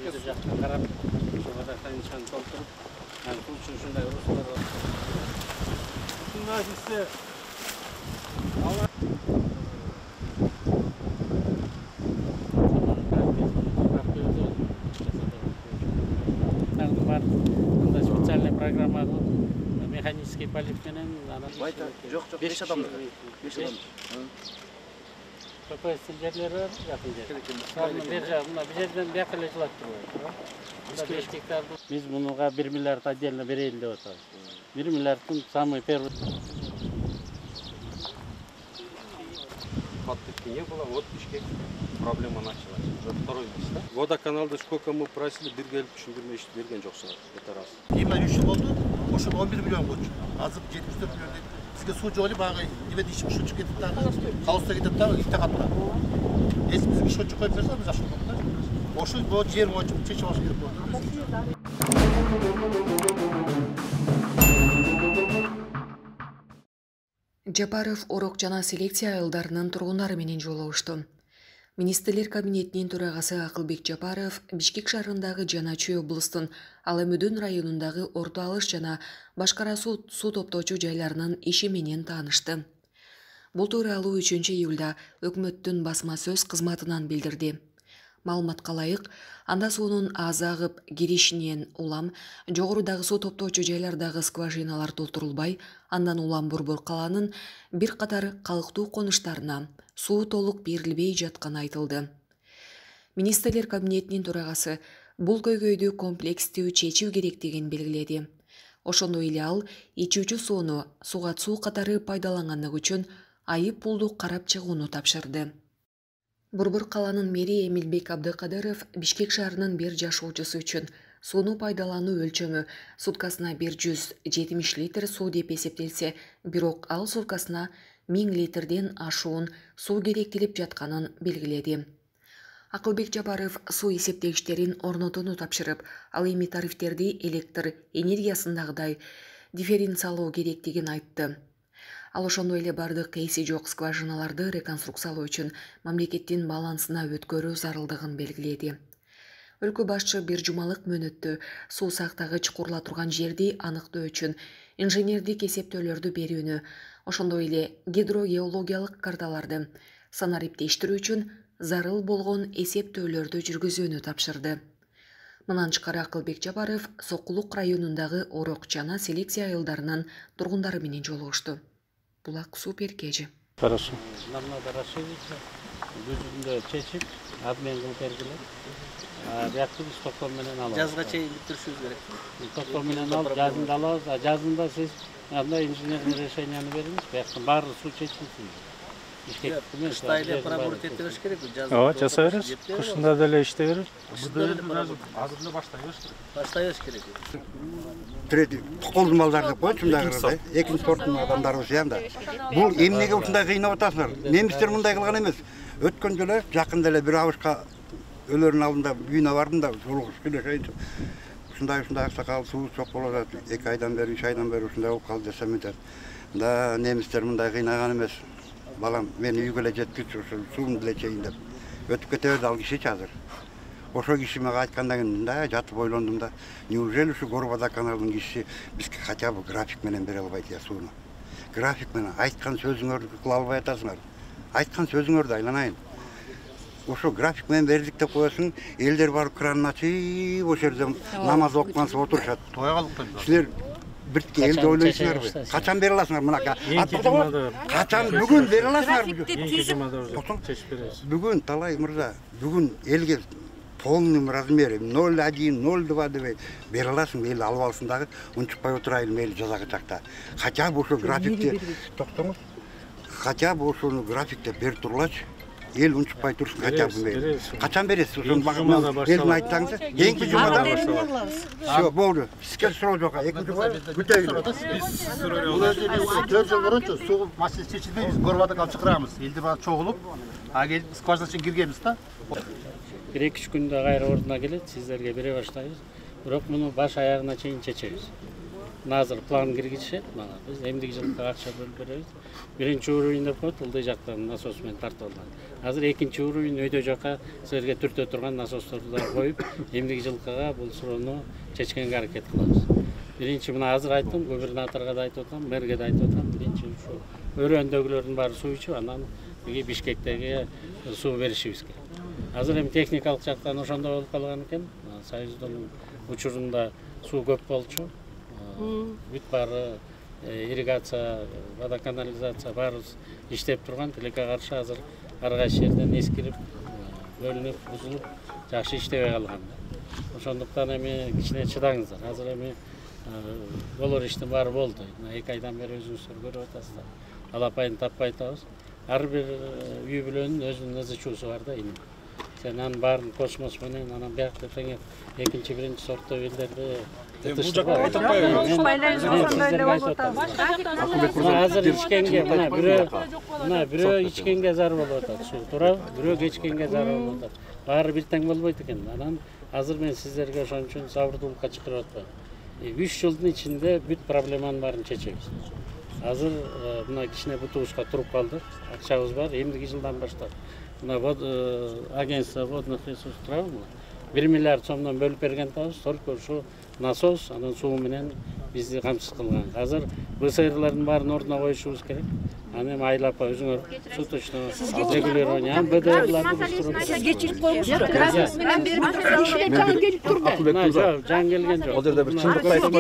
жактан карап, ошого канчаны толтуруп, суу ушундай урустар бар. Ушундай специальный программа механический полив менен жок 5 адам. 5 адам. КПС жерлер бар, жакын жер. Мына бу жерден бияка эле жылап турбайбы. 5 гектар. Биз мунуга 1 миллиард отдельно берейин деп атабыз. 1 миллиардтын самый первый. Не было, вот пешки проблема началась. Уже второй месяц. Водоканалда сколько мы просили, бир келип түшүндүрмө ишти берген жоксуңар. Это раз. Кийин 3 жыл болду. Ошол 11 миллион болчу. Азыр 74 миллион. Бизге суу жок эле багы эме иши ушунчу кетип дагы. Калыста кетип дагы итте катта. Эс бизге ушунчу коюп берсе биз жакшы болот да. Ошол бул жер боюнча чечип алыш керек болот. Жапаров Орок жана селекция айылдарынын тургундары менен жолугушту. Министрлер кабинетинин төрагасы Акылбек Жапаров Бишкек шаарындагы жана Чүй облустун Аламөдөн районундагы Орто Алыш жана башкара суу топтоочу жайларынын иши менен таанышты. Бул тууралуу 3-июлда өкмөттүн басма сөз кызматынан билдирди. Маалыматка ылайык, анда суунун аз агып киришинен улам жогорудагы суу топтоочу жайлардагы скважиналар толтурулбай, андан улам Борбор калаанын бир катар калктуу конуштарына суу толук берилбей жатканы айтылды. Министрлер кабинетинин төрагасы бул көйгөйдү комплекстүү чечүү керектигин белгиледи. Ошондой эле ал ичүүчү сууну суга суу катары пайдаланганлык үчүн айып пулду карап чыгууну тапшырды. Борбор калаанын мэри Эмилбек Абдыкадыров Бишкек шаарынын бир жашоочусу үчүн сууну пайдалануу өлчөмү суткасына 170 литр суу деп эсептелсе, бирок ал суткасына 1000 литрден ашуун суу керектелип жатканын белгиледи. Акылбек Жапаров суу эсептегичтерин орнотууну тапшырып, ал эми тарифтерди электр энергиясындагыдай дифференциалоо керектигин айтты. Ал ошондой эле бардык эси жок скважиналарды реконструкциялоо үчүн мамлекеттин балансына өткөрүү зарылдыгын белгиледи. Өлкө башчы бир жумалык мөөнөттө суу сактагыч курула турган жерди аныктоо үчүн инженердик эсептөөлөрдү берүүнү, ошондой эле гидрогеологиялык карталарды санариптештирүү үчүн зарыл болгон эсептөөлөрдү жүргүзүүнү тапшырды. Мындан тышкары Акылбек Жапаров Сокулук районундагы Орок жана селекция айылдарынын тургундары менен жолугушту. Булак супер кежи. Хорошо. Нам надо расширить, жүзүндө чечип, обмен кылып бергиле. Биякты биз токтом менен алабыз. Жазга чейин бүтүрүшүбүз керек. Токтом менен алып, жазында алабыз. Жазында сиз андай инженерный решенияны бериңиз, бияктан баары суу чечилсин. Кышта эле пробурить эте бериш керек. Ооба, жасай беребиз. Кышында деле иштей беребиз. Азырында баштай бериш керек. Третий колдун малдары деп коет ушундайгы экинчи сорттун адамдарыбыз да. Бул эмнеге ушундай кыйнап атасыңар? Немистер мындай кылган эмес. Өткөн жолу жакында эле бир абышка өлөрүнүн алдында үйүнө бардым да, жолугуш келешейин. Ушундай аксакал суу чок болуп атат. 2 айдан бери, 3 айдан бери ушундай болуп калды десем айтат. Да, немистер мындай кыйнаган эмес. Балам, мен үйгө эле жеткичи ушул сууну деле чейин деп. Өтүп кете берди ал кишичи азыр. Ошо киши мага айткандан кийин да жатып ойлондум да, неужели ушу Горводоканалдын кишиси бизге хотя бы график менен бере албайт я сууну. График менен айткан сөзүңөрдү кыла албай атасыңар. Айткан сөзүңөрдү айланайын. Ошо график менен бердик деп коесуң, элдер барып кранын ачып, ошол жерде намаз окугансып отурушат. Тойга калып силер биртке элди ойлойсуңарбы? Качан бере аласыңар мынакай? Качан бүгүн бере аласыңар? Бүгүн Талай мырза, бүгүн элге полный размере 0,1, 0,2 деп бере аласың, эл алып алсын дагы, унчукпай отурайын эл жаза кычакта. Хотя бы ошо графикте токтоңуз. Хотя бы ошону графикте берип турулачы. Эл унчукпай турсын хотя бы мейли. Качан бересиз? Ошону элдин айтсаңыз, кийинки жумада башталат. Всё, болду. Сизге суроо жок. Экинчи жумада күтөйүн. Бул өзү 4 жыл мурунчу суу маселеси чечилбей биз Горводоканал чакырабыз. Элди бара чогулуп, келип скважина үчүн киргенбиз да. 1-2 күндө кайра ордуна келет, сиздерге бере баштайбыз. Бирок муну баш аягына чейин чечебиз. Мына азыр план киргизишет мага. Биз эмдиги жылга акча бөлүп беребиз. Биринчи уровень деп коет, ылдый жактан насос менен тартып алган. Азыр экинчи уровень өйдө жака силерге түртө турган насосторду коюп, эмдиги жылкыга бул суроону чечкенге аракет кылабыз. Биринчи мына азыр айттым, губернаторго да айтып атам, мэрге да айтып атам. Биринчи ушу өрөөндөгүлөрдүн баары суу ичип, анан Бишкектеги суу беришибиз керек. Азыр эми техникалык жактан ошондой болуп калган экен. Союздун учурунда суу көп болчу. Бүт баары ирригация, водоканализация баарыбыз иштеп турган. Тилекке каршы азыр ар кайсы жерден эскирип, бөлүнүп, бузулуп, жакшы иштебей калган. Ошондуктан эми кичине чыдаңыздар. Азыр эми болор иштин баары болду. 2 айдан бери өзүңүздөр көрүп атасыздар. Алапайын таппай атабыз. Ар бир үй бүлөнүн өзүнүн ызычуусу бар да эми. Сен анын баарын космос менен анан биякта теңе экинчи, биринчи сорттуу элдерди бул жакка азыр ичкенге мына бирөө ичкенге зар болуп атат суу, туура, бирөө кечкенге зар болуп атат. Баары бир тең болбойт экен. Анан азыр мен сиздерге ошон үчүн сабырдуулукка чакырып атпайм. 3 жылдын ичинде бүт проблеманын баарын чечебиз. Азыр мына кичине бутубузга туруп калдык. Акчабыз бар. Эмдиги жылдан баштап мына агентство водных ресурсов туурабы? 1 миллиард сомдон бөлүп берген атабыз. Только ушу насос, анан суу менен бизди камсыз кылган. Азыр БСРлардын баарын ордуна коюшубуз керек. Аны эми айлап өзүңөр суточно регулирование, БДРларды буштуруп. Сизге чыгып коюңуздар. Мен берип турам. Келип турду. Жан келген жок. Ал жерде бир чындыкты айтып